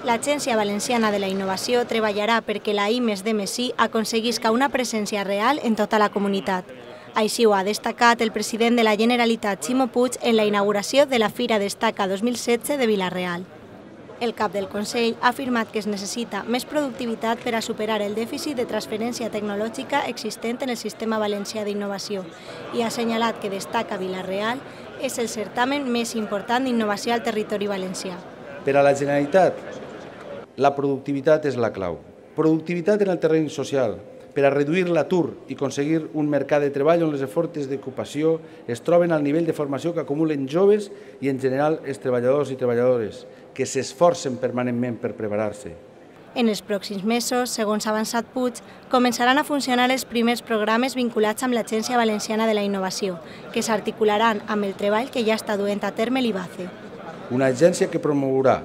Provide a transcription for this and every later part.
L'Agència Valenciana de la Innovació treballarà perquè la I+D+I aconseguisca una presència real en tota la comunitat. Així ho ha destacat el president de la Generalitat, Ximo Puig, en la inauguració de la Fira Destaca 2016 de Vila-real. El cap del Consell ha afirmat que es necessita més productivitat per a superar el dèficit de transferència tecnològica existent en el sistema valencià d'innovació i ha assenyalat que Destaca Vila-real és el certamen més important d'innovació al territori valencià. Per a la Generalitat, la productivitat és la clau. Productivitat en el terreny social, per a reduir l'atur i aconseguir un mercat de treball on les ofertes d'ocupació es troben al nivell de formació que acumulen joves i, en general, els treballadors i treballadores, que s'esforcen permanentment per preparar-se. En els pròxims mesos, segons ha avançat Puig, començaran a funcionar els primers programes vinculats amb l'Agència Valenciana de la Innovació, que s'articularan amb el treball que ja està duent a terme l'IVACE. Una agència que promourà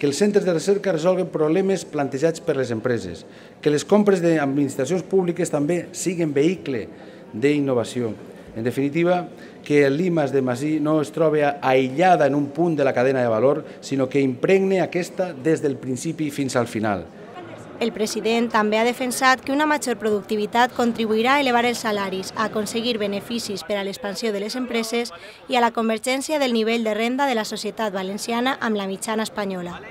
que els centres de recerca resolguen problemes plantejats per les empreses, que les compres d'administracions públiques també siguin vehicle d'innovació. En definitiva, que l'I+D+I no es trobi aïllada en un punt de la cadena de valor, sinó que impregne aquesta des del principi fins al final. El president també ha defensat que una major productivitat contribuirà a elevar els salaris, a aconseguir beneficis per a l'expansió de les empreses i a la convergència del nivell de renda de la societat valenciana amb la mitjana espanyola.